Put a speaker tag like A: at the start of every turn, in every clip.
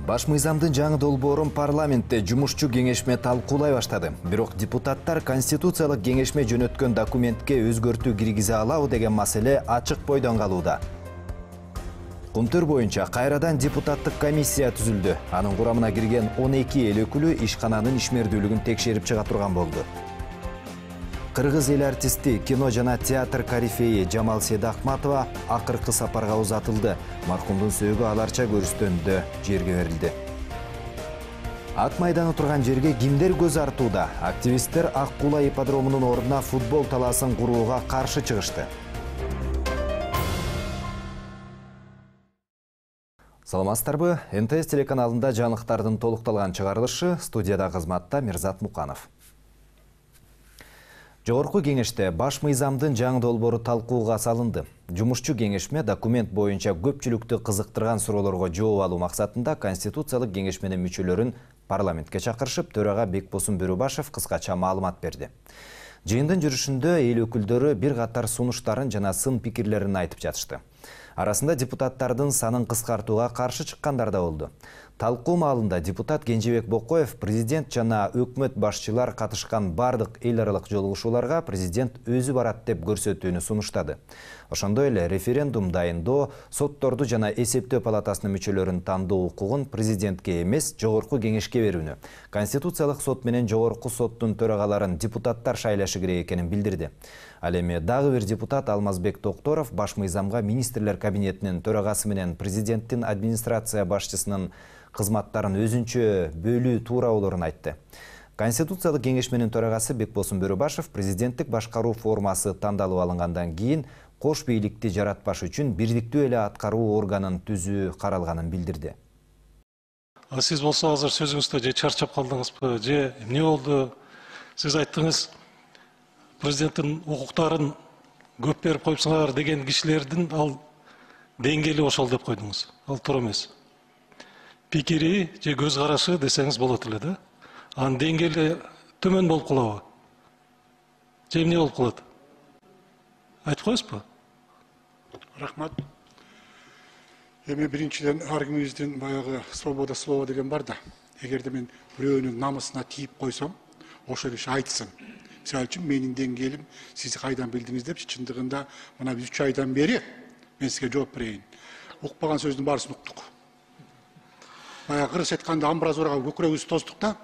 A: Баш мыйзамдын жаңы долбоорун парламентте жумушчу кеңешме талкуулай баштады. Бирок депутаттар конституциялык кеңешме жөнөткөн документке өзгөртүү киргизе алабы деген маселе ачык бойдон калууда. Кумтөр боюнча кайрадан депутаттык комиссия түзүлдү. Анын курамына кирген 12 эл өкүлү ишкананын ишмердүүлүгүн текшерип чыга турган болду. Кыргыз эл артисти, кино жана театр корифеи Жамал Седахматова акыркы сапарга узатылды. Маркумдун сөөгү аларча көрүстөндө жерге берилди. Ат майданы турган жерге кимдер көз артууда? Активисттер Ак Кула ипподромунун ордуна футбол талаасын курууга каршы чыгышты. Саламатсыздарбы? НТС телеканалында жаңылыктардын толукталган чыгарылышы, студияда кызматта Мирзат Муканов. Жогорку кеңеште баш мыйзамдын жаңы долбоору талкууга салынды. Жумушчу кеңешме документ боюнча көпчүлүктү кызыктырган суроолорго жооп алуу максатында Конституциялык кеңешменин мүчөлөрүн парламентке чакырышып, төрага Бекбосун Бөрөбашев кыскача маалымат берди. Жыйындын жүрүшүндө эл өкүлдөрү бир катар сунуштарын жана сын пикирлерин айтып жатышты. Арасында депутаттардын санын кыскартууга каршы чыккандар да болду. Талкуу маалында депутат Кенжебек Бокоев президент жана өкмөт башчылар катышкан бардык эл аралык жолугушууларга президент өзү барат деп көрсөтүүнү сунуштады. Ошондой эле референдум дайындоо, сотторду жана эсептөө палатасынын мүчөлөрүн тандоо укугун президентке эмес, жогорку кеңешке берүүнү, Конституциялык сот менен жогорку соттун төрагаларын депутаттар шайлашы керек экенин билдирди. Ал эми дагы бир депутат Алмазбек Токторов баш мыйзамга министрлер кабинетинин төрагасы менен президенттин администрация башчысынын кызматтарын өзүнчө бөлүү туура болорун айтты. Конституциялык кеңешменин төрагасы Бекбосун Бөрөбашев президенттик башкаруу формасы тандалып алынгандан кийин кош бийликти жаратпаш үчүн бирдиктүү эле аткаруу органын түзүү каралганын билдирди.
B: Сиз болсо азыр сөзүңүздө же чарчап калдыңызбы, же эмне болду? Сиз айттыңыз, президенттин укуктарын көп берип коюпсуңар деген кишилердин ал деңгээли ошол деп койдуңуз. Ал туура эмес. Пикири же көз карашы десеңиз болот эле да. Анын деңгээли төмөн болуп калабы? Же эмне болуп калат? Айтып коесузбу?
C: Рахмат. Эми биринчиден ар кимибиздин баягы свобода слова деген бар да. Эгерде мен бирөөнүн намысына тийип койсом, ошол киши айтсын. Мисалы үчүн менин деңгээлим сиз кайдан билдиңиз деп, чындыгында мына биз 3 айдан бери мен сизге жооп берейин. Укпаган сөздүн баарысын уктук. Баягы кыргыз айтканда амбразурага көкүрөгүбүздү тоздук да,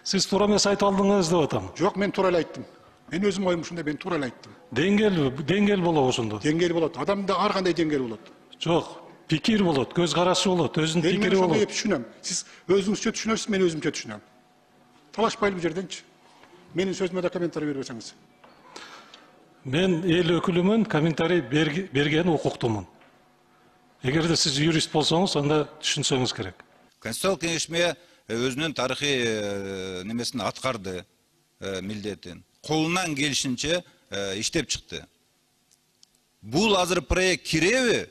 B: Сиз туура эмес айтып алдыңыз деп атам.
C: Жок, мен туура эле айттым. Мен өзүм оюм ушундай, мен туура эле айттым.
B: Деңгээл болобу ошондо?
C: Деңгээл болот. Адамда ар кандай деңгээл болот.
B: Жок, пикир болот, көз карашы болот, өзүнүн пикири болот.
C: Мен түшүнөм. Сиз өзүңүзчө түшүнөсүз, мен өзүмчө түшүнөм. Талашпайлы бул жерденчи. Менин сөзүмө да комментарий бербесеңиз.
B: Мен эл өкүлүмүн, комментарий берген укуктумун. Эгерде сиз юрист болсоңуз, анда түшүнсөңүз керек.
D: Конституциялык кеңешме өзүнүн тарыхый немесин аткарды, милдетин. Колунан келишинче иштеп чыкты. Бул азыр проект киреби?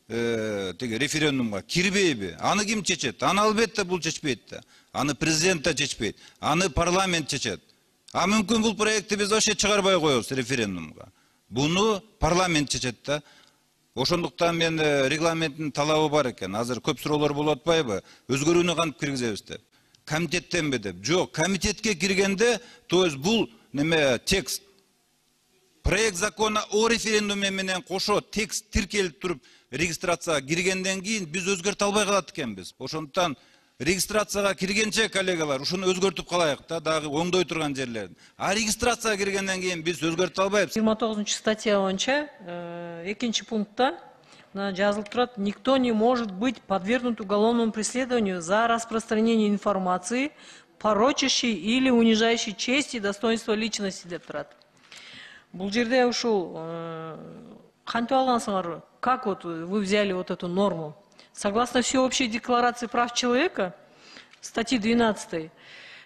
D: Теге референдумга кирбейби? Аны ким чечет? Аны албетте бул чечпейт да. Аны президент да чечпейт. Аны парламент чечет. А мүмкүн бул проектти биз вообще чыгарбай коебуз референдумга. Буну парламент чечет да. Ошондуктан мен регламенттин талабы бар экен. Азыр көп суроолор болуп атпайбы? Өзгөрүүнү кантип киргизебиз деп. Комитеттенби деп. Жок, комитетке киргенде, то есть бул неме текст проект закона о референдуме менен кошо текст тиркелип туруп регистрацияга киргенден кийин биз өзгөртө албай калат экенбиз. Ошондуктан регистрацияга киргенче коллегалар ушуну өзгөртүп калайык да, дагы оңдой турган жерлерин. А регистрацияга киргенден кийин биз өзгөртө албайбыз.
E: 29-статья боюнча 2-пунктта жазылып турат: никто не может быть подвергнут уголовному преследованию за распространение информации, порочащей или унижающей честь и достоинство личности деп турат. Бул жерде ушул кантип алгансыңар? Как вот вы взяли вот эту норму? Согласно Всеобщей декларации прав человека, статьи 12,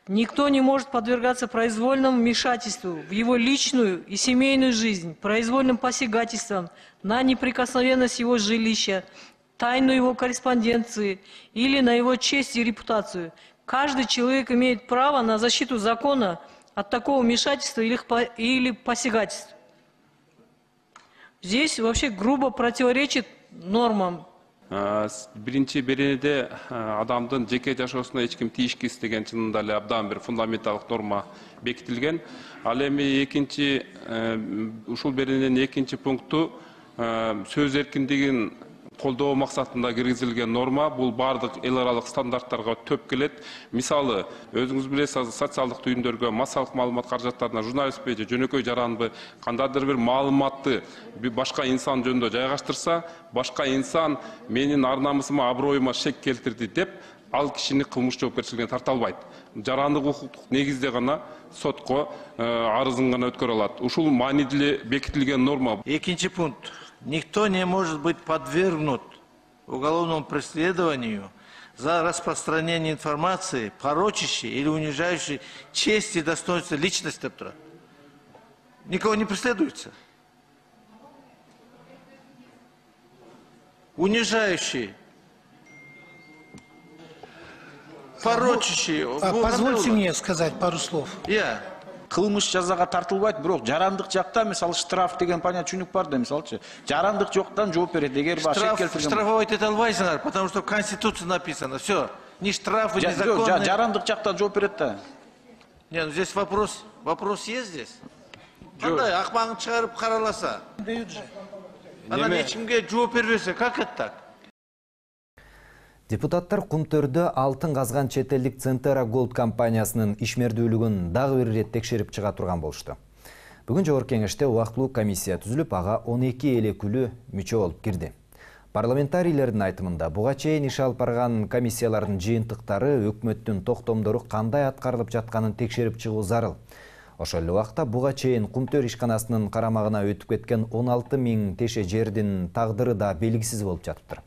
E: никто не может подвергаться произвольному вмешательству в его личную и семейную жизнь, произвольным посягательствам на неприкосновенность его жилища, тайну его корреспонденции или на его честь и репутацию. Каждый человек имеет право на защиту закона от такого вмешательства или посягательства. Здесь вообще грубо противоречит нормам
F: Биринчи беренеде адамдын жеке жашоосуна эч ким тийишкис деген чынында эле абдан бир фундаменталдык норма бекитилген. Ал эми экинчи ушул берененин экинчи пункту сөз эркиндигин колдоо максатында киргизилген норма. Бул бардык эл аралык стандарттарга төп келет. Мисалы, өзүңүз билесиз, социалдык түйүндөргө, массалык маалымат каражаттарына журналистпи же жөнөкөй жаранбы кандайдыр бир маалыматты башка инсан жөнүндө жайгаштырса, башка инсан менин ар намысыма, аброюма шек келтирди деп, ал кишини кылмыш жоопкерчилигине тарта албайт. Жарандык укуктук негизде гана сотко арызын гана өткөрө алат. Ушул маанилүү бекитилген норма.
G: Экинчи пункт. Никто не может быть подвергнут уголовному преследованию за распространение информации, порочащей или унижающей честь и достоинство личности. Никого не преследуется. Унижающий, порочащий.
H: Позвольте мне сказать пару слов.
I: Кылмыш жазага тартылбайт, бирок жарандык жакта мисалы штраф деген понятие түшүнүк бар да, мисалчы. Жарандык жоктан жооп берет. Эгер башка келтирген.
G: Штрафовать это албайсыңар, потому что в Конституции написано. Все. Ни штрафы, ни законы.
I: Жарандык жактан жооп берет да.
G: Не, ну здесь вопрос есть здесь? Кандай акмагын чыгарып караласа?
H: Дают же.
G: Анан ешкимге жооп бербесе, как это так?
A: Депутаттар Кумтөрдө алтын казган чет элдик Центера Голд компаниясынын ишмердүүлүгүн дагы бир ирет текшерип чыга турган болушту. Бүгүн жогорку кеңеште убактылуу комиссия түзүлүп, ага 12 эл өкүлү мүчө болуп кирди. Парламентарийлердин айтымында буга чейин иш алып барган комиссиялардын жыйынтыктары, өкмөттүн токтомдору кандай аткарылып жатканын текшерип чыгуу зарыл. Ошол эле убакта буга чейин Кумтөр ишканасынын карамагына өтүп кеткен 16 000 теше жердин тагдыры да белгисиз болуп жатыптыр.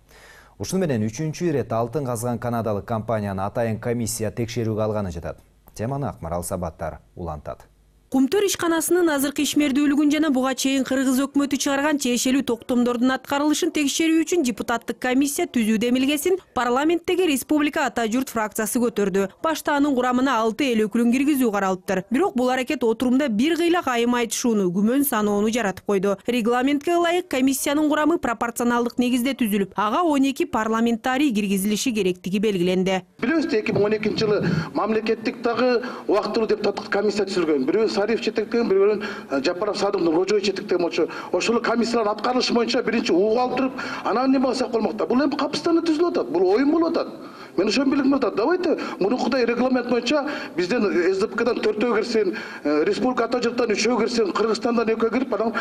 A: Ушуну менен 3-чү ирет алтын казган канадалык компанияны атайын комиссия текшерүүгө алганы жатат. Теманы Акмарал Сабаттар улантат.
J: Кумтөр ишканасынын азыркы ишмердүүлүгүн жана буга чейин кыргыз өкмөтү чыгарган тиешелүү токтомдордун аткарылышын текшерүү үчүн депутаттык комиссия түзүү демилгесин парламенттеги Республика Ата журт фракциясы көтөрдү. Башта анын курамына 6 эл өкүлүн киргизүү каралыптыр. Бирок бул аракет отурумда бир кыйла кайым айтышууну, күмөн саноону жаратып койду. Регламентке ылайык комиссиянын курамы пропорционалдык негизде түзүлүп, ага 12 парламентарий киргизилиши керектиги белгиленди.
K: Билебиз, 2012-жылы мамлекеттик дагы убактылуу депутаттык комиссия түзүлгөн. Бирөө Сариф четектеген, бирөөнүн Жапаров Садымдын Рожой четектеген болчу. Ошол комиссиялардын аткарылышы боюнча биринчи угуп алып туруп, анан неме кылсак болмокта. Бул эми капыстана түзүлүп атат. Бул оюн болуп атат. Мен ошон билгим атат. Давайте мурункудай регламент боюнча бизден СДПКдан 4-өө кирсин, Республика Ата журттан 3-өө кирсин, Кыргызстандан 2-өө кирип, анан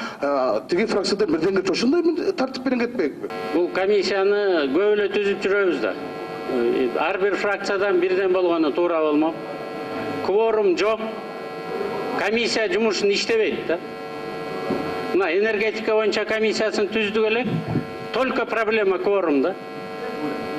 K: тиги фракциядан бирден кетип ошондой тартип менен кетпейбизби?
L: Бул комиссияны көп эле түзүп жүрөбүз да. Ар бир фракциядан бирден болгону туура болмок. Кворум жок. Комиссия жумушун иштебейт да. Мына энергетика боюнча комиссиясын түздүк элек. Только проблема кворумда.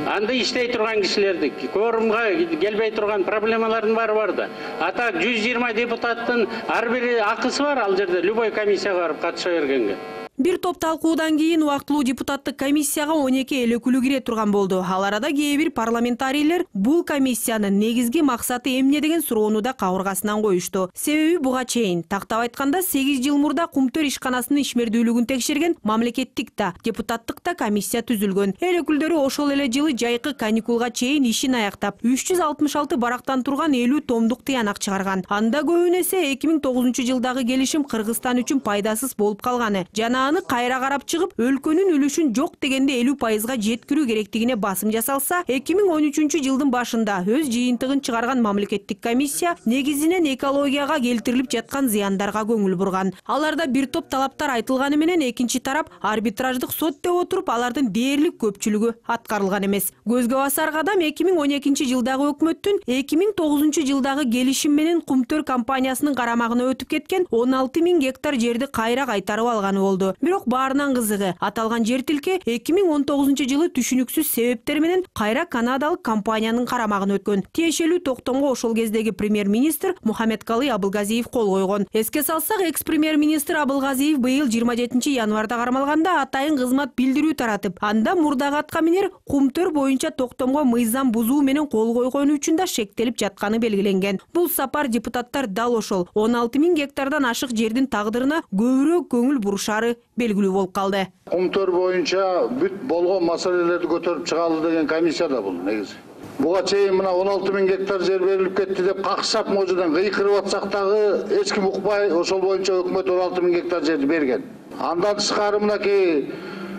L: Анда иштей турган кишилерди, кворумга келбей турган проблемалардын баары бар да. А так 120 депутаттын ар бири акысы бар ал жерде любой комиссияга барып катыша бергенге.
J: Бир топ талкуудан кийин убактылуу депутаттык комиссияга 12 эл өкүлү кире турган болду. Ал арада кээ бир парламентарийлер бул комиссиянын негизги максаты эмне деген суроону да кабыргасынан коюшту. Себеби буга чейин тактап айтканда 8 жыл мурда Кумтөр ишканасынын ишмердүүлүгүн текшерген мамлекеттик да, депутаттык да комиссия түзүлгөн. Эл өкүлдөрү ошол эле жылы жайкы каникулга чейин ишин аяктап, 366 барактан турган 50 томдук тыянак чыгарган. Анда көбүн эсе 2009-жылдагы келишим Кыргызстан үчүн пайдасыз болуп калганы жана аны кайра карап чыгып, өлкөнүн үлүшүн жок дегенде 50%га жеткирүү керектигине басым жасалса, 2013-жылдын башында өз жыйынтыгын чыгарган мамлекеттик комиссия негизинен экологияга келтирилип жаткан зыяндарга көңүл бурган. Аларда бир топ талаптар айтылганы менен экинчи тарап арбитраждык сот деп отуруп, алардын дээрлик көпчүлүгү аткарылган эмес. Көзгө басар кадам 2012-жылдагы өкмөттүн 2009-жылдагы келишим менен Кумтөр компаниясынын карамагына өтүп кеткен 16 000 гектар жерди кайра кайтарып алганы болду. Бирок баарынан кызыгы, аталган жер тилке 2019-жылы түшүнүксүз себептер менен кайра канадалык компаниянын карамагына өткөн. Тиешелүү токтомго ошол кездеги премьер-министр Мухаммедкалый Абылгазиев кол койгон. Эске салсак, экс-премьер-министр Абылгазиев быйыл 27 январда кармалганда атайын кызмат билдирүү таратып, анда мурдагы аткаминер Кумтөр боюнча токтомго мыйзам бузуу менен кол койгону үчүн да шектелип жатканы белгиленген. Бул сапар депутаттар дал ошол 16 000 гектардан ашык жердин тагдырына көбүрөөк көңүл бурушары белгилүү болуп калды.
K: Кумтөр боюнча бүт болгон маселелерди көтөрүп чыгалы деген комиссия да бул негизи. Буга чейин мына 16 000 гектар жер берилип кетти деп какшап можудан кыйкырып атсак дагы эч ким укпай ошол боюнча өкмөт 16 000 гектар жерди берген. Андан тышкары мынакей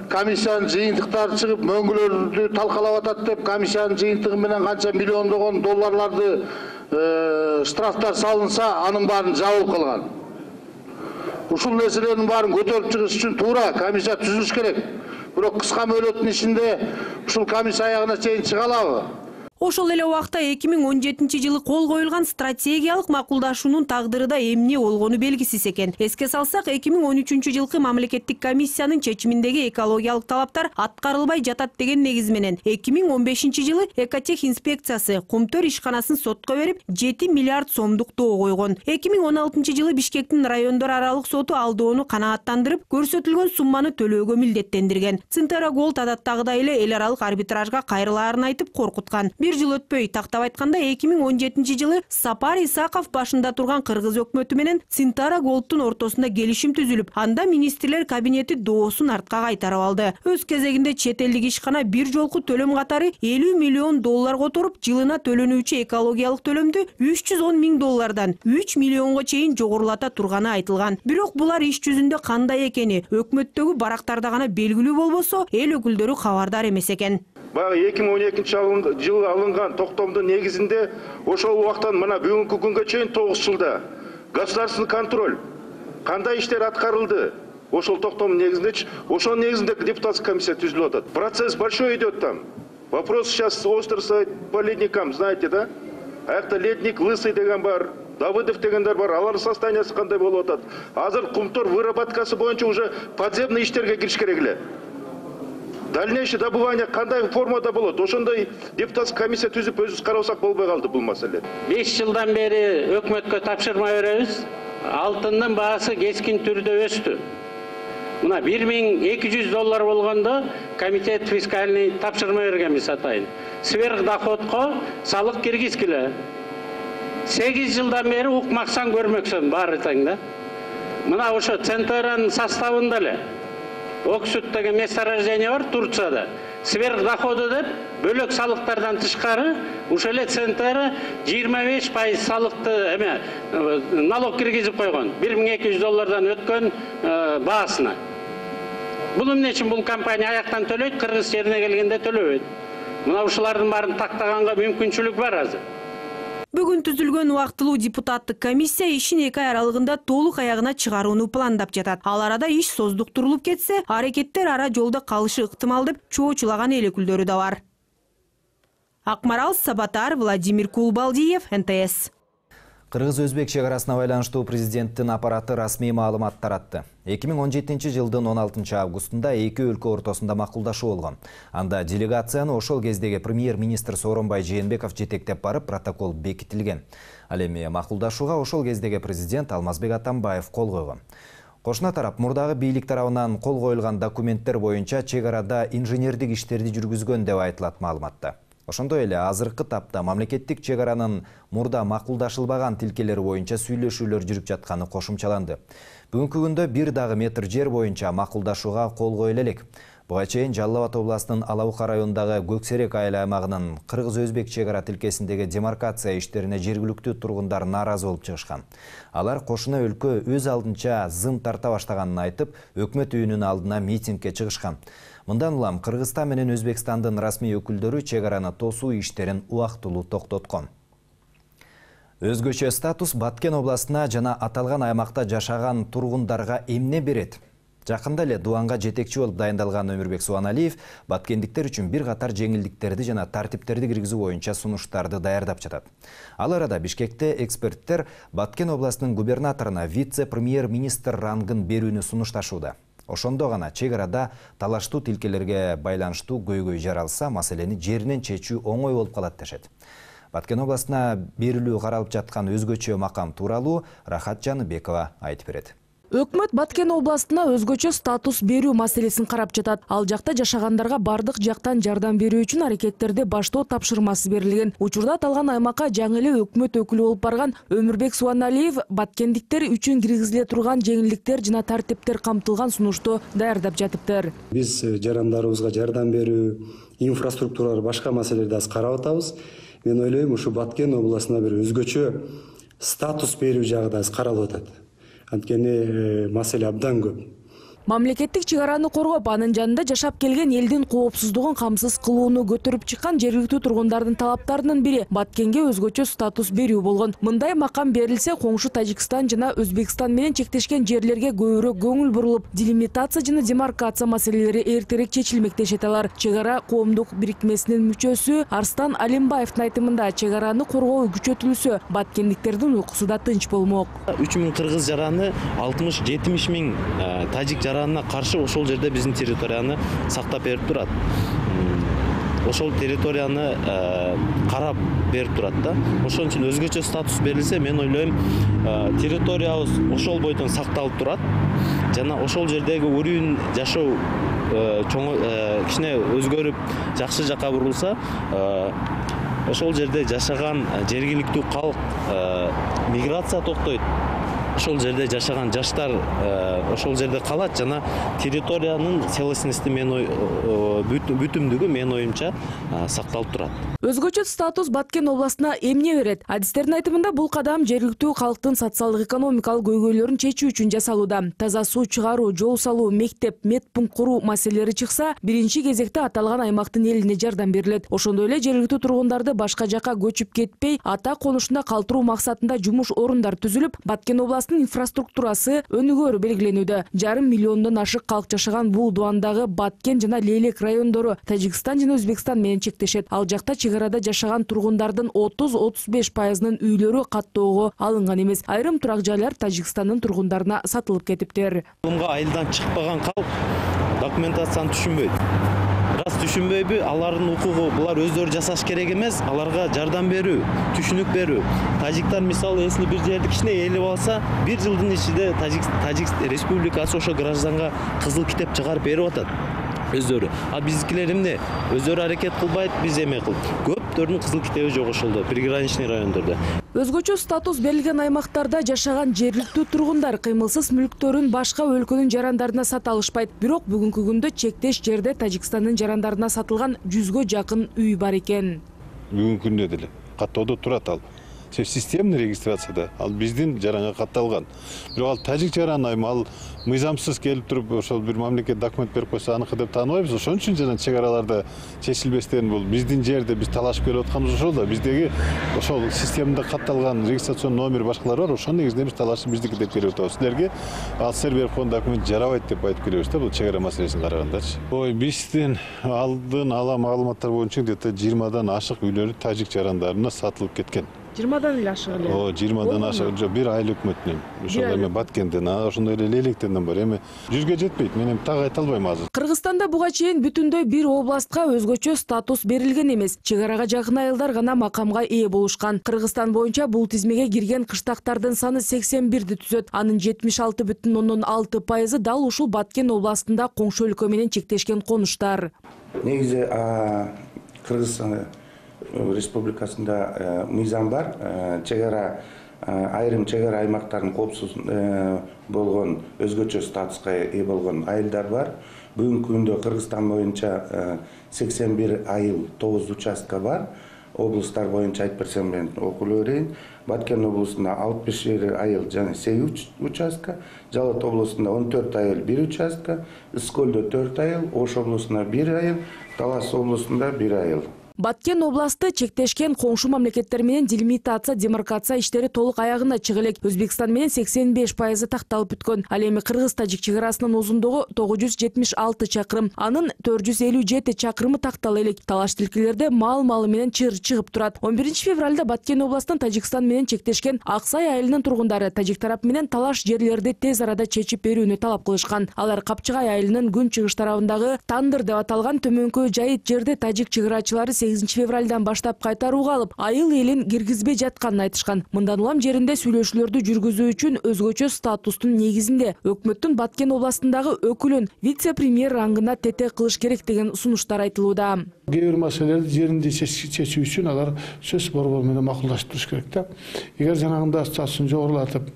K: комиссиянын жыйынтыктары чыгып мөңгүлөрдү талкалап атат деп комиссиянын жыйынтыгы менен канча миллиондогон долларларды штрафтар салынса, анын баарын жабылып калган. Ушул нерселердин баарын көтөрүп чыгыш үчүн туура комиссия түзүлүш керек. Бирок кыска мөөнөттүн ичинде ушул комиссия аягына чейин чыга алабы?
J: Ошол эле убакта 2017 жылы кол коюлган стратегиялык макулдашуунун тагдыры да эмне болгону белгисиз экен. Эске салсак, 2013 жылкы мамлекеттик комиссиянын чечиминдеги экологиялык талаптар аткарылбай жатат деген негиз менен 2015 жылы Экотех инспекциясы Кумтөр ишканасын сотко берип 7 миллиард сомдук доо койгон. 2016 жылы Бишкектин райондор аралык соту ал доону канааттандырып, көрсөтүлгөн сумманы төлөөгө милдеттендирген. Центара Голд адаттагыдай эле эл аралык арбитражга кайрылаарын айтып коркуткан. Bir жыл өтпөй, тактап айтканда 2017 жылы Сапар Исаков башында турган кыргыз өкмөтү менен Центара Голдтун ортосунда келишим түзүлүп, анда министрлер кабинети доосун артка кайтарып алды. Өз кезегинде чет элдик ишкана бир жолку төлөм катары 50 миллион доллар которуп, жылына төлөнүүчү экологиялык төлөмдү 310 000 доллардан 3 миллионго чейин жогорулата турганы айтылган. Бирок булар иш жүзүндө кандай экени өкмөттөгү барактарда гана белгилүү болбосо, эл өкүлдөрү кабардар эмес экен.
M: Баягы 2012 жылы алынган токтомдун негизинде ошол убактан мына бүгүнкү күнгө чейин 9 жылда государственный контроль кандай иштер аткарылды? Ошол токтомдун негизинде, ошол негизинде депутатский комиссия түзүлүп атат. Процесс большой идет там. Вопрос сейчас остро стоит по ледникам, знаете, да? Аякта ледник Лысый деген бар, Давыдов дегендер бар, алардын состояниясы кандай болуп атат? Азыр Кумтор выработкасы боюнча уже подземный иштерге кириш керек эле. Дальнейшее добывание кандай формада болот? Ошондой депутатский комиссия түзүп өзүбүз карасак болбой калды бул маселе.
L: 5 жылдан бери өкмөткө тапшырма беребиз. Алтындын баасы кескин түрдө өстү. Мына 1200 доллар болгондо комитет фискальный тапшырма бергенбиз атайын. Сверхдоходко салык киргизгиле. 8 жылдан бери укмаксан көрмөксүн баары тең да. Мына ошо Центаранын составында эле Оксуд деген месторождение бар Турцияда. Сверхдоходу деп бөлөк салыктардан тышкары ошол эле Центара 25% салыкты налог киргизип койгон. 1200 доллардан өткөн баасына. Бул эмне үчүн бул компания аяктан төлөйт, кыргыз жерине келгенде төлөбөйт. Мына ушулардын баарын тактаганга мүмкүнчүлүк бар азыр.
J: Бүгүн түзүлгөн убактылуу депутаттык комиссия ишин 2 ай аралыгында толук аягына чыгарууну пландап жатат. Ал арада иш создуктурулуп кетсе, аракеттер ара жолдо калышы ыктымал деп чоочулаган эл өкүлдөрү да бар. Акмарал Сабатар, Владимир Кулбалдиев, НТС.
A: Кыргыз-Өзбек чек арасына байланыштуу президенттин аппараты расмий маалымат таратты. 2017 жылдын 16 августунда эки өлкө ортосунда макулдашуу болгон. Анда делегацияны ошол кездеги премьер-министр Сооронбай Жээнбеков жетектеп барып, протокол бекитилген. Ал эми макулдашууга ошол кездеги президент Алмазбек Атамбаев кол койгон. Кошуна тарап мурдагы бийлик тарабынан кол коюлган документтер боюнча чек арада инженердик иштерди жүргүзгөн деп айтылат маалыматта. Ошондой эле азыркы тапта мамлекеттик чек аранын мурда макулдашылбаган тилкелери боюнча сүйлөшүүлөр жүрүп жатканы кошумчаланды. Бүгүнкү күндө бир дагы метр жер боюнча макулдашууга кол коюла элек. Буга чейин Жалал Абад областынын Алабука районундагы Көксерек айыл аймагынын Кыргыз-Өзбек чек ара тилкесиндеги демаркация иштерине жергиликтүү тургундар нааразы болуп чыгышкан. Алар кошуна өлкө өз алдынча зым тарта баштаганын айтып, өкмөт үйүнүн алдына митингге чыгышкан. Мындан улам Кыргызстан менен Өзбекстандын расмий өкүлдөрү чек араны тосуу иштерин убактылуу токтоткон. Өзгөчө статус Баткен областына жана аталган аймакта жашаган тургундарга эмне берет? Жакында эле Дуанга жетекчи болуп дайындалган Өмүрбек Суаналиев баткендиктер үчүн бир катар жеңилдиктерди жана тартиптерди киргизүү боюнча сунуштарды даярдап жатат. Ал арада Бишкекте эксперттер Баткен областынын губернаторуна вице-премьер-министр рангын берүүнү сунушташууда. Ошондо гана чек арада талаштуу тилкелерге байланыштуу көйгөй жаралса, маселени жеринен чечүү оңой болуп калат дешет. Баткен областына берилүү каралып жаткан өзгөчө макам тууралуу Рахат Жаныбекова айтып берет.
N: Өкмөт Баткен областына өзгөчө статус берүү маселесин карап жатат. Ал жакта жашагандарга бардык жактан жардам берүү үчүн аракеттерди баштоо тапшырмасы берилген. Учурда аталган аймакка жаңы эле өкмөт өкүлү болуп барган Өмүрбек Суаналиев баткендиктер үчүн киргизиле турган жеңилдиктер жана тартиптер камтылган сунушту даярдап жатыптыр.
O: Биз жарандарыбызга жардам берүү, инфраструктуралар, башка маселелерди аз карап атабыз. Мен ойлойм, ушу Баткен областына бир өзгөчө статус берүү жагы да аз каралып атат. Анткени маселе абдан көп.
N: Мамлекеттик чыгараны коргоп, анын жанында жашап келген элдин коопсуздугун камсыз кылууну көтөрүп чыккан жергиликтүү тургундардын талаптарынын бири Баткенге өзгөчө статус берүү болгон. Мындай макам берилсе, коңшу Тажикстан жана Өзбекстан менен чектешкен жерлерге көбүрөөк көңүл бурулуп, делимитация жана демаркация маселелери эртерээк чечилмек дешет алар. Чыгара коомдук бирикмесинин мүчөсү Арстан Алимбаевдин айтымында, чыгараны коргоо күчөтүлсө, баткендиктердин уйкусу да тынч болмок.
P: 3000 кыргыз жараны, 60-70 миң тажик жаранына каршы ошол жерде биздин территорияны сактап берип турат. Ошол территорияны карап берип турат да. Ошон үчүн өзгөчө статус берилсе, мен ойлойм, территориябыз ошол бойдон сакталып турат. Жана ошол жердеги өрүүн жашоо кичине өзгөрүп, жакшы жакка бурулса, ошол жерде жашаган жергиликтүү калк миграция токтойт. Ошол жерде жашаган жаштар ошол жерде калат жана территориянын целостности бүтүмдүгү мен оюмча сакталып турат.
N: Өзгөчө статус Баткен областына эмне берет? Адистердин айтымында бул кадам жергиликтүү калктын социалдык экономикалык көйгөйлөрүн чечүү үчүн жасалууда. Таза суу чыгаруу, жол салуу, мектеп, медпункт куруу маселелери чыкса, биринчи кезекте аталган аймактын элине жардам берилет. Ошондой эле жергиликтүү тургундарды башка жакка көчүп кетпей, ата конушунда калтыруу максатында жумуш орундар түзүлүп, Баткен областынын инфраструктурасы өнүгөөрү белгилениүүдө. 1,5 миллиондон ашык калк жашаган бул дубандагы Баткен жана Лейлек райондору Тажикстан жана Өзбекстан менен чектешет. Ал жакта чыгарада жашаган тургундардын 30-35%-нын үйлөрү каттоого алынган эмес. Айрым турак жайлар Тажикстандын тургундарына сатылып кетиптир.
P: Айылдан чыкпаган калк документацияны түшүнбөйт. Раз түшүнбөйбү, алардын укугу, булар өздөрү жасаш керек эмес, аларга жардам берүү, түшүнүк берүү. Тажиктар мисалы эсли бир жерди кичине ээлеп алса, 1 жылдын ичинде Тажик республикасы ошо гражданга кызыл китеп чыгарып берип атат. Өздөрү. А биздикилер эмне? Өздөрү аракет кылбайт, биз эме кыл. Көптөрдүн кызыл китеби жок ошолдо, приграничный райондордо.
N: Өзгөчө статус берилген аймактарда жашаган жергиликтүү тургундар кыймылсыз мүлктөрүн башка өлкөнүн жарандарына сата алышпайт. Бирок бүгүнкү күндө чектеш жерде Тажикстандын жарандарына сатылган 100гө жакын үй бар экен.
Q: Бүгүнкү күндө деле каттоодо турат ал. Системный регистрацияда ал биздин жаранга катталган. Бирок ал тажик жараны ал мыйзамсыз келип туруп ошол бир мамлекет документ берип койсо аныкы деп тааныбайбыз. Ошон үчүн жана чек араларда чечилбестен бул биздин жерде биз талашып келип атканыбыз ошол да. Биздеги ошол системада катталган регистрацион номер башкалар бар. Ошонун негизинде биз талашып биздики деп келип атабыз. Силерге ал силер берип койгон документ жарабайт деп айтып келебиз да, бул чек ара маселесин карагандарчы. Биздин алдын ала маалыматтар боюнча где-то 20дан ашык үйлөрү тажик жарандарына сатылып кеткен.
N: 20дан эле ашык эле.
Q: 20дан ашык. Бир айыл өкмөтүнөн. Ошол эме Баткенден, ошондой эле Лейлектен бар. Эми 100гө жетпейт. Мен так айта албайм азыр.
N: Кыргызстанда буга чейин бүтүндөй бир областка өзгөчө статус берилген эмес. Чек арага жакын айылдар гана макамга ээ болушкан. Кыргызстан боюнча бул тизмеге кирген кыштактардын саны 81ди түзөт. Анын 76,6% дал ушул Баткен областында коңшу өлкө менен чектешкен конуштар.
R: Негизи Кыргызстан Республикасында мыйзам бар, айрым чек ара аймактардын коопсуз болгон өзгөчө статуска ээ болгон айылдар бар. Бүгүнкү күндө Кыргызстан боюнча 81 айыл 9 участка бар. Облустар боюнча айтып берсем мен окулуп берейин. Баткен облусунда 61 айыл жана 8 участка, Жалат облусунда 14 айыл 1 участка, Искөлдө 4 айыл, Ош облусунда 1 айыл, Талас облусунда 1 айыл.
N: Баткен областы чектешкен коңшу мамлекеттер менен делимитация, демаркация иштери толук аягына чыга элек. Өзбекстан менен 85% такталып бүткөн. Ал эми Кыргыз-Тажик чек арасынын узундугу 976 чакырым, анын 457 чакырымы тактала элек. Талаш тилкелерде мал-малы менен чыр чыгып турат. 11 февралда Баткен областын Тажикстан менен чектешкен Аксай айылынын тургундары тажик тарап менен талаш жерлерди тез арада чечип берүүнү талап кылышкан. Алар Капчыгай айылынын күн чыгыш тарабындагы Тандыр деп аталган төмөнкү жайыт жерде тажик чек арачылары 8 февралдан баштап кайтарууга алып, айыл элин киргизбей жатканын айтышкан. Мындан улам жеринде сүйлөшүүлөрдү жүргүзүү үчүн өзгөчө статустун негизинде өкмөттүн Баткен областындагы өкүлүн вице-премьер рангына тете кылыш керек деген сунуштар айтылууда.
H: Кээ бир маселелерди жеринде чечүү үчүн алар сөз борбору менен макулдашып туруш керек да. Эгер жанагында статусун жогорулатып,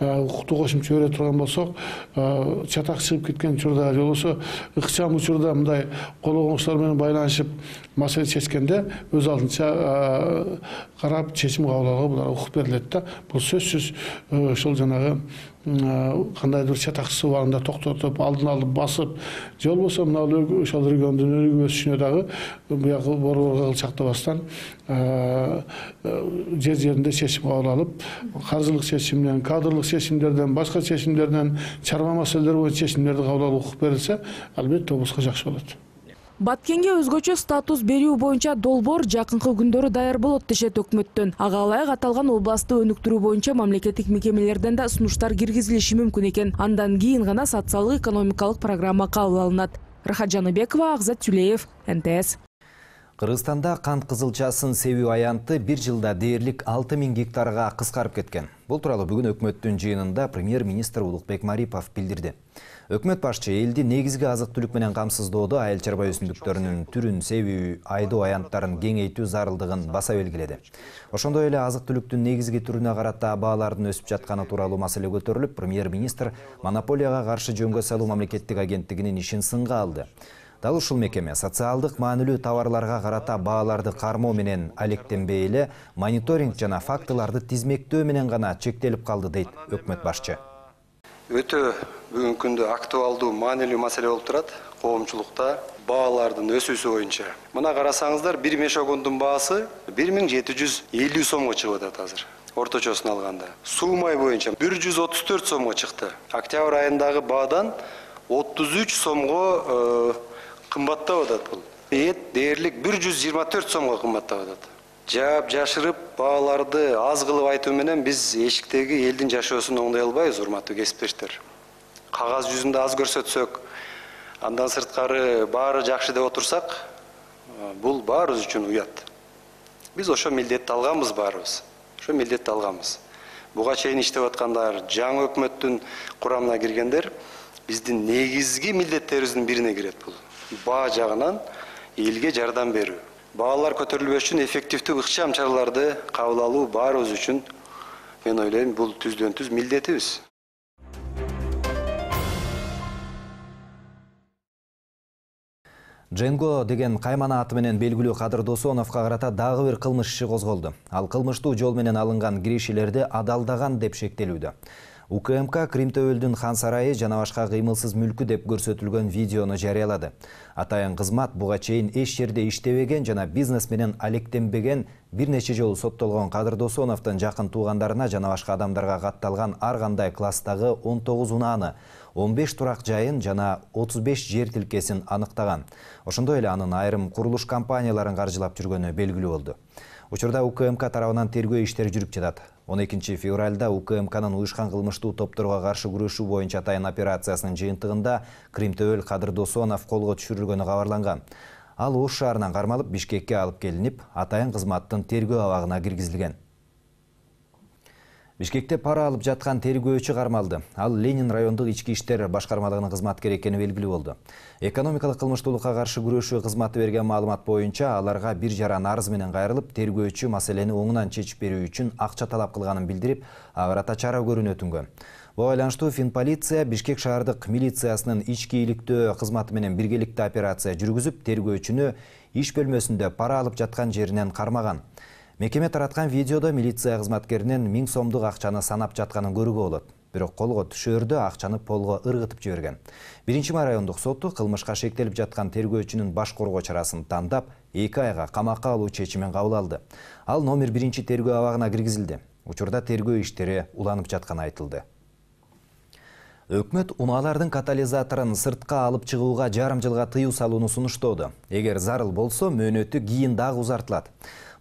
H: укуктуу кошумча бере турган болсок, чатак чыгып кеткен учурда, же болбосо ыкчам учурда мындай кол оңуштар менен байланышып маселе чечкенде өз алдынча карап чечим кабыл алууга буларга укук берилет да. Бул сөзсүз ошол жанагы кандайдыр чатакчысы убагында токтотуп, алдын алып басып, же болбосо мына ошол региондун өнүгүүсүнө дагы буягы борборго кылчактабастан жеринде чечим кабыл алып, каржылык чечимден, кадрлык чечимдерден, башка чечимдерден, чарба маселелер боюнча чечимдерди кабыл алууга укук берилсе, албетте облуска жакшы болот.
N: Баткенге өзгөчө статус берүү боюнча долбоор жакынкы күндөрү даяр болот дешет өкмөттөн. Ага ылайык аталган областты өнүктүрүү боюнча мамлекеттик мекемелерден да сунуштар киргизилиши мүмкүн экен. Андан кийин гана социалдык экономикалык программа кабыл алынат. Рахат Жаныбекова, Акзат Сүлеев, НТС.
A: Кыргызстанда кант кызылчасын себүү аянты бир жылда дээрлик 6000 гектарга кыскарып кеткен. Бул тууралуу бүгүн өкмөттүн жыйынында премьер-министр Улукбек Марипов билдирди. Өкмөт башчы элди негизги азык-түлүк менен камсыздоодо айыл чарба өсүмдүктөрүнүн түрүн себүү, айдоо аянттарын кеңейтүү зарылдыгын баса белгиледи. Ошондой эле азык-түлүктүн негизги түрүнө карата баалардын өсүп жатканы тууралуу маселе көтөрүлүп, премьер-министр монополияга каршы жөнгө салуу мамлекеттик агенттигинин ишин сынга алды. Дал ушул мекеме социалдык маанилүү товарларга карата бааларды кармоо менен алектенбей эле мониторинг жана фактыларды тизмектөө менен гана чектелип калды, дейт өкмөт башчы.
S: Өтө бүгүнкү күндө актуалдуу маанилүү маселе болуп турат коомчулукта баалардын өсүүсү боюнча. Мына карасаңыздар, бир мешогондун баасы 1750 сомго чыгып атат азыр. Орточосун алганда. Суу май боюнча 134 сомго чыкты. Октябрь айындагы баадан 33 сомго кымбаттап атат бул. Эт дээрлик 124 сомго кымбаттап атат. Жаап жашырып бааларды аз кылып айтуу менен биз эшиктеги элдин жашоосун оңдой албайбыз, урматтуу кесиптештер. Кагаз жүзүндө аз көрсөтсөк, андан сырткары баары жакшы деп отурсак, бул баарыбыз үчүн уят. Биз ошо милдетти алганбыз баарыбыз. Ошо милдетти алганбыз. Буга чейин иштеп аткандар, жаңы өкмөттүн курамына киргендер биздин негизги милдеттерибиздин бирине кирет бул. Баа жагынан элге жардам берүү. Баалар көтөрүлбөш үчүн эффективдүү ыкчам чараларды кабыл алуу баарыбыз үчүн, мен ойлойм, бул түздөн-түз милдетибиз.
A: Дженго деген каймана аты менен белгилүү Кадыр Досоновго карата дагы бир кылмыш иши козголду. Ал кылмыштуу жол менен алынган киришелерди адалдаган деп шектелүүдө. УКМК Кримтөөлдүн Хан сарайы жана башка кыймылсыз мүлкү деп көрсөтүлгөн видеону жарыялады. Атайын кызмат буга чейин эч жерде иштебеген жана бизнес менен алектенбеген бир нече жолу соттолгон Кадыр Досоновдун жакын туугандарына жана башка адамдарга катталган ар кандай класстагы 19 унааны, 15 турак жайын жана 35 жер тилкесин аныктаган. Ошондой эле анын айрым курулуш компанияларын каржылап жүргөнү белгилүү болду. Учурда УКМК тарабынан тергөө иштери жүрүп жатат. 12 февралда УКМКнын уюшкан кылмыштуу топторго каршы күрөшүү боюнча атайын операциясынын жыйынтыгында Кримтөөл Кадыр Досонов колго түшүрүлгөнү кабарланган. Ал Ош шаарынан кармалып Бишкекке алып келинип, атайын кызматтын тергөө абагына киргизилген. Бишкекте пара алып жаткан тергөөчү кармалды. Ал Ленин райондук ички иштер башкармалыгынын кызматкери экени белгилүү болду. Экономикалык кылмыштуулукка каршы күрөшүү кызматы берген маалымат боюнча аларга бир жаран арыз менен кайрылып, тергөөчү маселени оңунан чечип берүү үчүн акча талап кылганын билдирип, ага карата чара көрүүнү өтүнгөн. Буга байланыштуу Финполиция Бишкек шаардык милициясынын ички иликтөө кызматы менен биргеликте операция жүргүзүп, тергөөчүнү иш бөлмөсүндө пара алып жаткан жеринен кармаган. Мекеме тараткан видеодо милиция кызматкеринин 1000 сомдук акчаны санап жатканын көрүүгө болот. Бирок колго түшөрдө акчаны полго ыргытып жиберген. 1-май райондук соту кылмышка шектелип жаткан тергөөчүнүн баш коргоо чарасын тандап, 2 айга камакка алуу чечимин кабыл алды. Ал номер 1 тергөө абагына киргизилди. Учурда тергөө иштери уланып жатканы айтылды. Өкмөт унаалардын катализаторун сыртка алып чыгууга жарым жылга тыюу салууну сунуштоодо. Эгер зарыл болсо, мөөнөтү кийин дагы узартылат.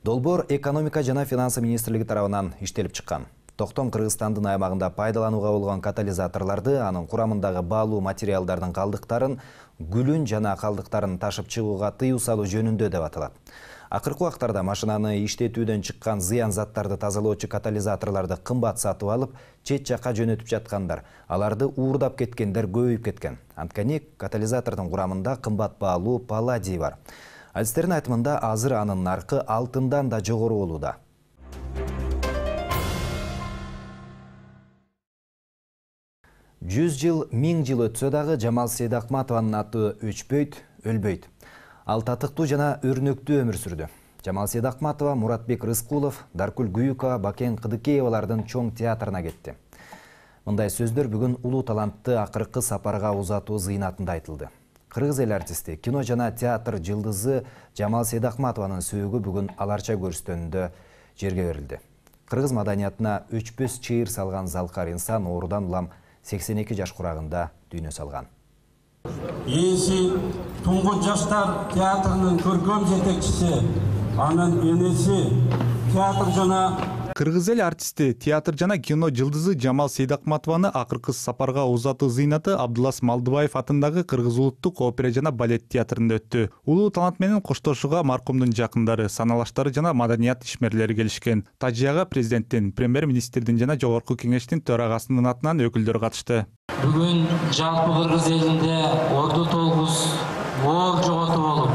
A: Долбоор экономика жана финансы министрлиги тарабынан иштелип чыккан. Токтом Кыргызстандын аймагында пайдаланууга болгон катализаторлорду, анын курамындагы баалуу материалдардын калдыктарын, гүлүн жана калдыктарын ташып чыгууга тыюу салуу жөнүндө деп аталат. Акыркы убактарда машинаны иштетүүдөн чыккан зыян заттарды тазалоочу катализаторлорду кымбат сатып алып, чет жакка жөнөтүп жаткандар. Аларды уурдап кеткендер көбөйүп кеткен. Анткени катализатордун курамында кымбат баалуу палладий бар. Адистердин айтымында азыр анын наркы алтындан да жогору болууда. Жүз жыл, 1000 жыл өтсө дагы Жамал Сейдакматованын аты өчпөйт, өлбөйт. Ал татыктуу жана өрнөктүү өмүр сүрдү. Жамал Сейдакматова, Муратбек Рыскулов, Даркүл Гүйүкова, Бакен Кыдыкеевалардын чоң театрына кетти. Мындай сөздөр бүгүн улуу талантты акыркы сапарга узатуу зыйнатында айтылды. Кыргыз эл артисти, кино жана театр жылдызы Жамал Сейдакматованын сөөгү бүгүн аларча көрүстөнүндө жерге берилди. Кыргыз маданиятына өчпөс чыйыр салган залкар инсан оорудан улам 82 жаш курагында дүйнө салган.
T: Ээси Туңгут жаштар театрынын көркөм жетекчиси, анын энеси театр жана
U: Кыргыз эл артисти, театр жана кино жылдызы Жамал Сейдакматованы акыркы сапарга узатуу зыйнаты Абдулас Малдыбаев атындагы Кыргыз улуттук опера жана балет театрында өттү. Улуу талант менен коштошууга маркумдун жакындары, саналаштары жана маданият ишмерлери келишкен. Тажияга президенттин, премьер-министрдин жана жогорку кеңештин төрагасынын атынан өкүлдөр катышты.
V: Бүгүн жалпы Кыргыз элинде орду толгус оор жоготуу болуп,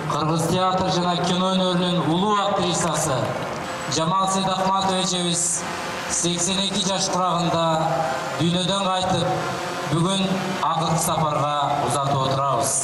V: Кыргыз театр жана кино өнөрүнүн улуу актрисасы Жамал Сейдакматова эжебиз 82 жаш курагында дүйнөдөн кайтып, бүгүн акыркы сапарга узатып отурабыз.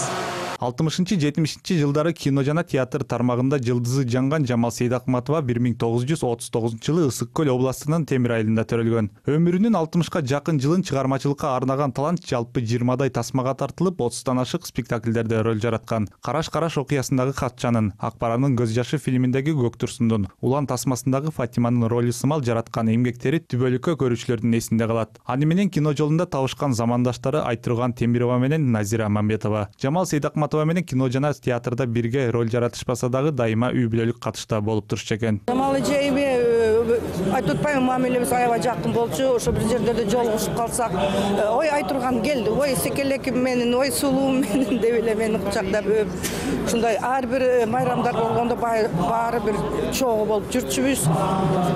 U: 60-70 жылдары кино жана театр тармагында жылдызы жанган Жамал Сейдакматова 1939 жылы Ысык Көл областынын Темир айылында төрөлгөн. Өмүрүнүн 60-ка жакын жылын чыгармачылыкка арнаган талант жалпы 20дай тасмага тартылып, 30тан ашык спектакльдерде роль жараткан. Караш-караш окуясындагы Катчанын, Акбаранын көз жашы фильминдеги Көк Турсундун, Улан тасмасындагы Фатиманын ролу сымал жараткан эмгектери түбөлүккө көрүүчүлөрдүн эсинде калат. Аны менен кино жолунда табышкан замандаштары Айтурган Темирова менен Назира Мамбетова. Жамал Сейдакматова менен кино жана театрда бирге роль жаратышпаса дагы дайыма үй бүлөлүк катышта болуп турчу экен.
W: Жамал эжеме айтып атпайбы, мамилебиз аябай жакын болчу. Ошо бир жерлерде жолугушуп калсак, ой Айтурган келди, ой секелеким менен, ой сулуум менен деп эле мени кучактап өп, ушундай ар бир майрамдар болгондо баары бир чогуу болуп жүрчүбүз.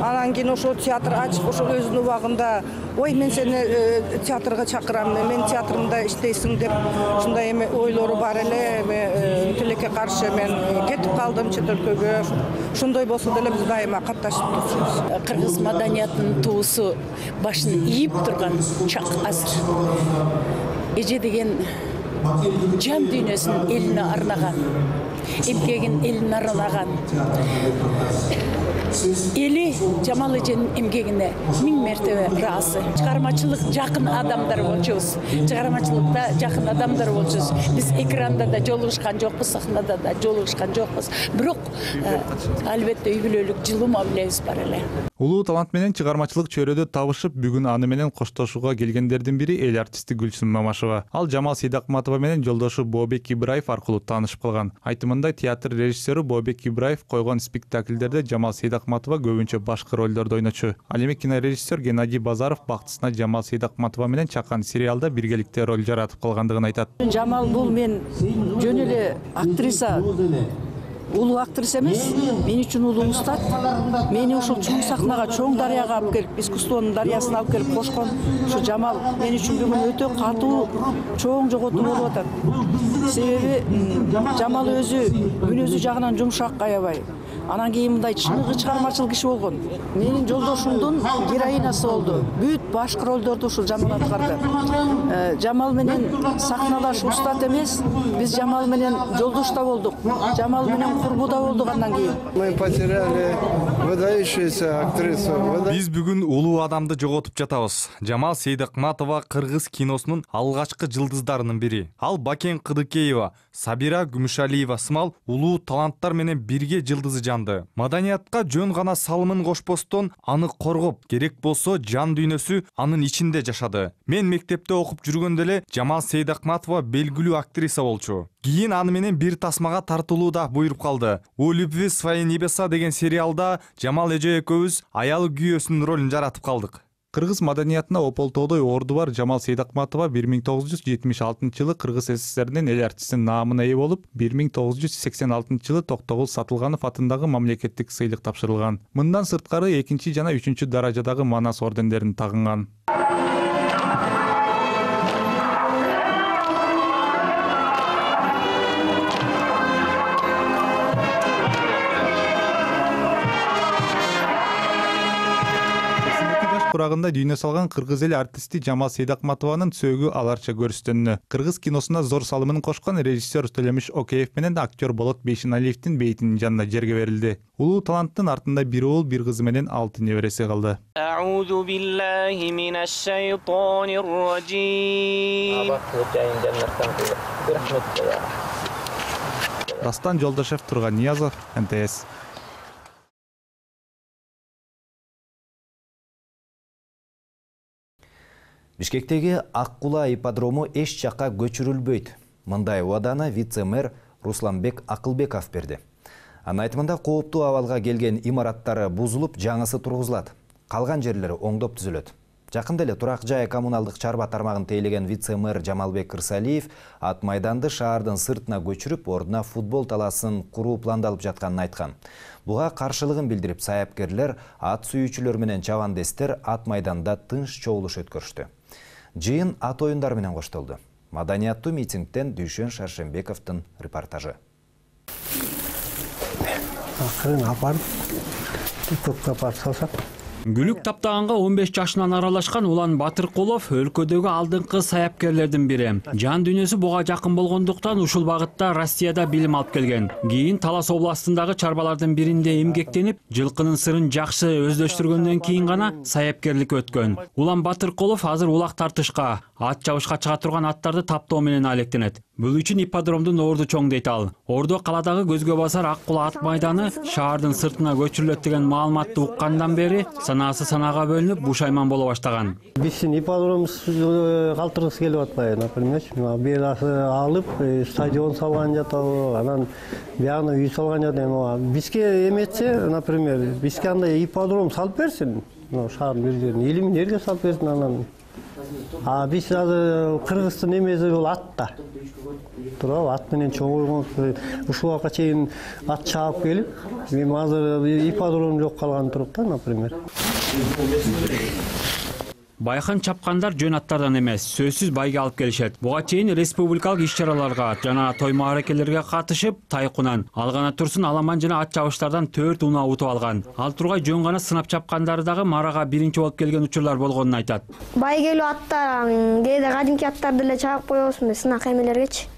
W: Анан кийин ошо театр ачып, ошо өзүнүн убагында ой мен сени театрга чакырам, мен театрымда иштейсиң деп ушундай эме ойлору бар эле. Тилекке каршы мен кетип калдым чет өлкөгө. Ошондой болсо деле биз дайыма катташып турчубуз.
X: Кыргыз маданиятынын туусу башын ийип турган чак азыр. Эже деген жан дүйнөсүн элине арнаган, эмгегин элине арнаган. Эли Жамал эженин эмгегине 1000 мертебе ыраазы. Чыгармачылык жакын адамдар болчубуз. Чыгармачылыкта жакын адамдар болчубуз. Биз экранда да жолугушкан жокпуз, сахнада да жолугушкан жокпуз. Бирок албетте үй бүлөлүк жылуу мамилебиз бар эле.
U: Улуу талант менен чыгармачылык чөйрөдө табышып, бүгүн аны менен коштошууга келгендердин бири эл артисти Гүлсүм Мамашева. Ал Жамал Сейдакматова менен жолдошу Бообек Ибраев аркылуу таанышып калган. Айтымында театр режиссеру Бообек Ибраев койгон спектакльдерде Жамал Сейдакматова көбүнчө башкы ролдорду ойночу. Ал эми кинорежиссер Геннадий Базаров бактысына Жамал Сейдакматова менен чакан сериалда биргеликте роль жаратып калгандыгын айтат.
W: Жамал бул мен жөн эле актриса, улуу актриса эмес, мен үчүн улуу устат. Мени ошол чоң сахнага, чоң дарыяга алып келип, искусствонун дарыясына алып келип кошкон ушу Жамал мен үчүн бүгүн өтө катуу, чоң жоготуу болуп атат. Себеби Жамал өзү мүнөзү жагынан жумшак, аябай. Анан кийин мындай чыныгы чыгармачыл киши болгон. Менин жолдошумдун героинасы болду. Бүт башкы ролдорду ушул Жамал аткарды. Жамал менен сахналаш устат эмес, биз Жамал менен жолдош да болдук. Жамал менен курбу да болдук андан кийин.
Y: Мы потеряли выдающуюся актрису.
Z: Биз бүгүн улуу адамды жоготуп жатабыз. Жамал Сейдакматова кыргыз киносунун алгачкы жылдыздарынын бири. Ал Бакен Кыдыкеева, Сабира Күмүшалиева сымал улуу таланттар менен бирге жылдызы жанды. Маданиятка жөн гана салымын кошпостон аны коргоп, керек болсо жан дүйнөсү анын ичинде жашады. Мен мектепте окуп жүргөндө эле Жамал Сейдакматова белгилүү актриса болчу. Кийин аны менен бир тасмага тартылууда буйруп калды. «У любви свои небеса» деген сериалда Жамал эже экөөбүз аял күйөөсүнүн ролун жаратып калдык.
U: Кыргыз маданиятына ополтоодой орду бар Жамал Сейдакматова 1976-жылы Кыргыз СССРинин эл артистинин наамына ээ болуп, 1986-жылы Токтогул Сатылганов атындагы мамлекеттик сыйлык тапшырылган. Мындан сырткары 2 жана 3 даражадагы Манас ордендерин тагынган. Курагында дүйнө салган кыргыз эл артисти Жамал Сейдакматованын сөөгү аларча көрүстөнүнө кыргыз киносуна зор салымын кошкон режиссер Төлөмүш Океев менен актер Болот Бейшеналиевдин бейтинин жанына жерге берилди. Улуу таланттын артында бир уул, бир кызы менен 6 небереси калды.
B: Аузу биллахи минаш шайтанир ражим.
U: Дастан Жолдошев, Турган Ниязов, НТС.
A: Бишкектеги Ак Кула ипподрому эч жакка көчүрүлбөйт. Мындай убаданы вице-мэр Русланбек Акылбеков берди. Анын айтымында кооптуу абалга келген имараттары бузулуп, жаңысы тургузулат. Калган жерлери оңдоп түзүлөт. Жакында эле турак жай коммуналдык чарба тармагын тейлеген вице-мэр Жамалбек Ырсалиев ат майданды шаардын сыртына көчүрүп, ордуна футбол талаасын куруу пландалып жатканын айткан. Буга каршылыгын билдирип, саяпкерлер, ат сүйүүчүлөр менен чабандестер ат майданда тынч чогулуш өткөрүштү. Жыйын ат оюндары менен коштолду. Маданияттуу митингден Дүйшөн Шаршембековдун репортажы.
C: Гүлүк таптаганга 15 жашынан аралашкан Улан Батыркулов өлкөдөгү алдыңкы саяпкерлердин бири. Жан дүйнөсү буга жакын болгондуктан ушул багытта Россияда билим алып келген. Кийин Талас областындагы чарбалардын биринде эмгектенип, жылкынын сырын жакшы өздөштүргөндөн кийин гана саяпкерликке өткөн. Улан Батыркулов азыр улак тартышка, ат чабышка чыга турган аттарды таптоо менен алектенет. Бул үчүн ипподромдун орду чоң дейт ал. Ордо каладагы көзгө басар Ак Кула ат майданы шаардын сыртына көчүрүлөт деген маалыматты уккандан бери санаасы санаага бөлүнүп, бушайман боло баштаган.
D: Биздин ипподромубуз калтыргысы келип атпайбы, например, берасы алып, стадион салган жатабы, анан биягына үй салган жатабы. Бизге эметсе, например, бизге андай ипподром салып берсин, шаардын бир жерине, элимин жерге салып берсин анан. Биз азыр Кыргыздын эмеси бул атта. Туурабы, ат менен чогуу ушул убакка чейин ат чаап келип, мен азыр ипподром жок калган туруп да, например.
C: Байкын чапкандар жөн аттардан эмес, сөзсүз байга алып келишет. Буга чейин республикалык иш-чараларга жана той мааракелерге катышып, тайкунан, алгана турсун аламан жана ат чабыштардан 4 унаа утуп алган. Ал тургай жөн гана сынап чапкандары дагы марага биринчи болуп келген учурлар болгонун айтат.
E: Байгелүү аттар, кээде кадимки аттарды эле чаап коебуз, сынак эмелергечи.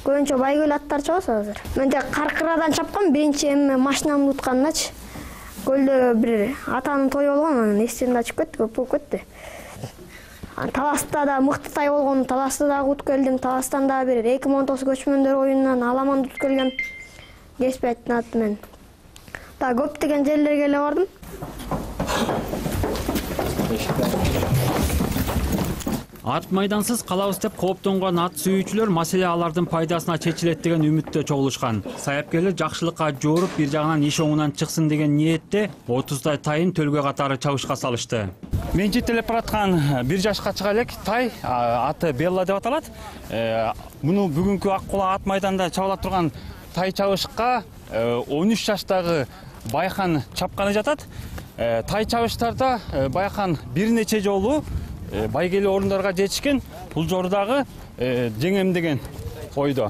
E: Көбүнчө байгелүү аттар чабабыз азыр. Мен тек Каркырадан чапкам, биринчи машинамды уткандачы. Көлдө бир атанын тою болгон, анан эстен ачып кетти, көп болуп кетти. Таласта да мыкты тай болгон, Таласты дагы утуп келдим. Таластан дагы бир 2019 көчмөндөр оюнунан аламанды утуп келгем. Кеспеттин аты менен. Да көптөгөн жерлерге эле бардым.
C: Ат майдансыз калабыз деп кооптонгон ат сүйүүчүлөр маселе алардын пайдасына чечилет деген үмүттө чогулушкан. Саяпкерлер жакшылыкка жооруп, бир жагынан иш оңунан чыксын деген ниетте 30 тайын төлгө катары чабышка салышты. Мен жетелеп бараткан 1 жашка чыга элек тай, аты Белла деп аталат. Муну бүгүнкү Ак Кула ат майданда чабыла турган тай чабышка 13 жаштагы Байкан чапканы жатат. Тай чабыштарда Байкан бир нече жолу байгелүү орундарга жетишкен, бул жордагы жеңем деген ойдо.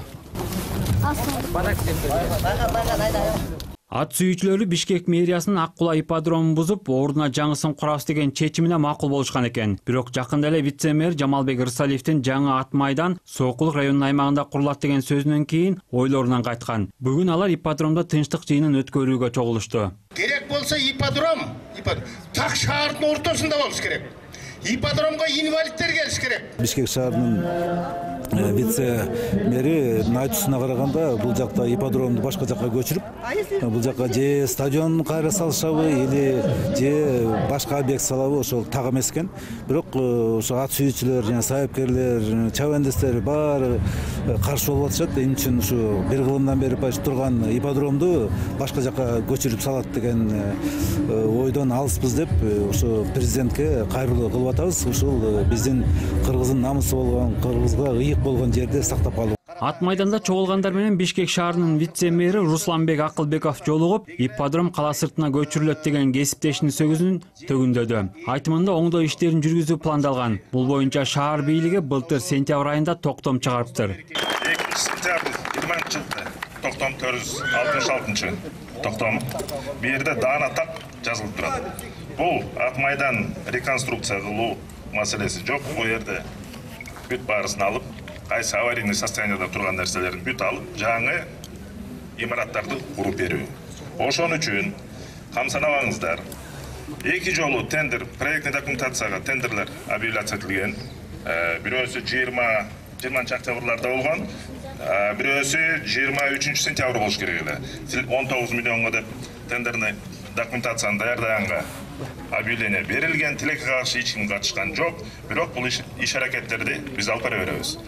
C: Ат сүйүүчүлөрү Бишкек мэриясынын Ак Кула ипподромун бузуп, ордуна жаңысын курабыз деген чечимине макул болушкан экен. Бирок жакында эле вице-мэр Жамалбек Ырсалиевдин жаңы ат майдан Сокулук районунун аймагында курулат деген сөзүнөн кийин ойлорунан кайткан. Бүгүн алар ипподромдо тынчтык жыйынын өткөрүүгө чогулушту.
F: Керек болсо ипподром так шаардын ортосунда болуш керек. Ипподромго инвалидтер келиш керек.
I: Бишкек шаарынын
G: вице мэри айтуусуна караганда бул жакта ипподромду башка жакка көчүрүп бул жакка же стадион кайра салышабы или же башка объект салабы ошол так эмес экен. Бирок ошо ат сүйүүчүлөр жана сайыпкерлер, чабандестер баары каршы болуп атышат. Эмне үчүн ушу бир кылымдан бери турган ипподромду башка жакка көчүрүп салат деген ойдон алыспыз деп ошо президентке кайрылуу кылып атабыз. Ушул биздин Кыргыздын намысы болгон, Кыргызга ыйык болгон жерде сактап калуу.
C: Ат майданда чогулгандар менен Бишкек шаарынын вице-мэри Русланбек Акылбеков жолугуп, ипподром кала сыртына көчүрүлөт деген кесиптешинин сөзүн төгүндөдү. Айтымында оңдоо иштерин жүргүзүү пландалган. Бул боюнча шаар бийлиги былтыр сентябрь айында токтом чыгарыптыр.
I: 2-сентябрь 20-жылы токтом 466 токтом. Бу жерде даана так жазылып турат. Бул ат майдан реконструкция кылуу маселеси жок. Бу жерде бүт баарысын алып, кайсы аварийный состоянияда турган нерселерин бүт алып, жаңы имараттарды куруп берүү. Ошон үчүн камсанабаңыздар. 2 жолу тендер, проектный документацияга тендерлер объявляция этилген. Бирөөсү 20 октябрларда болгон, бирөөсү 23 сентябрь болуш керек эле. 19 миллионго деп тендерный документацияны даярдаганга объявление берилген, тилекке каршы эч ким катышкан жок. Бирок бул иш аракеттерди биз алып бара беребиз.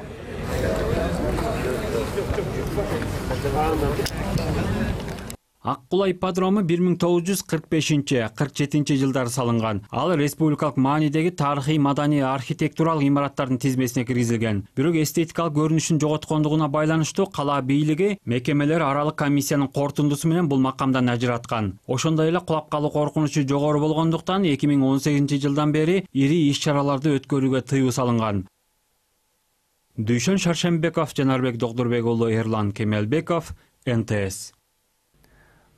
C: Ак Кула ипподрому 1945-47 жылдары салынган. Ал республикалык маанидеги тарыхый, маданий, архитектуралык имараттардын тизмесине киргизилген. Бирок эстетикалык көрүнүшүн жоготкондугуна байланыштуу кала бийлиги мекемелер аралык комиссиянын корутундусу менен бул макамдан ажыраткан. Ошондой эле кулап калуу коркунучу жогору болгондуктан 2018 жылдан бери ири иш-чараларды өткөрүүгө тыюу салынган. Дүйшөн Шаршембеков, Жанарбек Докдурбек уулу, Эрлан Кемелбеков, НТС.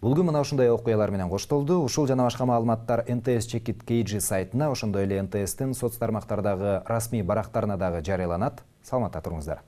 A: Бүгүн мына ушундай окуялар менен коштолду. Ушул жана башка маалыматтар НТС Чекит KG сайтына, ошондой эле НТСтин соц тармактардагы расмий барактарына дагы жарыяланат. Саламатта туруңуздар.